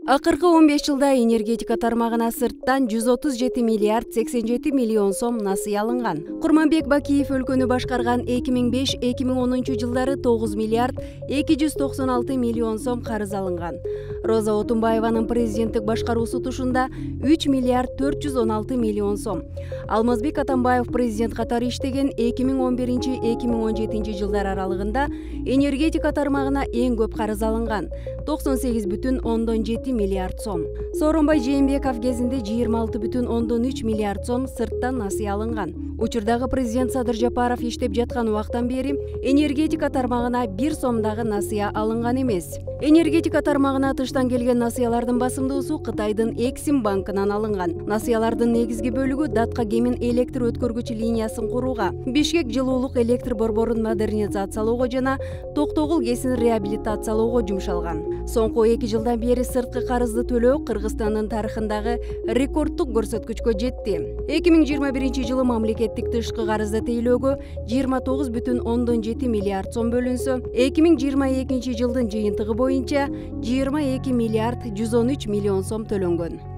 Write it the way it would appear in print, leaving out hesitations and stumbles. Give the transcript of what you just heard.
Акыркы 15 жылда энергетика тармагына сырттан 137 миллиард 87 миллион сом насыя алынган. Курманбек Бакиев өлкөнү башкарган 2005-2010 жылдары 9 миллиард 296 миллион сом карыз алынган. Роза Отунбаеванын президенттик башкаруусу тушунда 3 миллиард 416 миллион сом. Алмазбек Атамбаев президент катары иштеген 2011-2017 жылдар аралыгында энергетика тармагына эң көп карыз алынган 98,7 миллиард сом. Сооронбай Жээнбеков кезинде 26,3 миллиард сом сырттан насыя алынган. Учурдагы президент Садыр Жапаров иштеп жаткан убактан бери энергетика тармагына 1 сомдагы насыя алынган эмес. Энергетика тармагына тыштан келген насыялардын басымдуусу Кытайдын Эксим банкынан алынган. Насыялардын негизги бөлүгү Датка Кемин электр өткөргүч линиясын курууга, Бишкек жылуулук электр борборун модернизациялоого жана Токтогул КЭСин реабилитациялоого жумшалган. Соңку 2 жылдан бери сырткы карызды төлөө Кыргызстандын тарыхындагы рекорддук көрсөткүчкө жетти. 2021 жылы мамлекеттик тышкы карызды тейлөөгө 29,7 миллиард сом бөлүнсө, 2022 жылдын жыйынтыгы боюнча 22 миллиард 113 миллион сом төлөнгөн.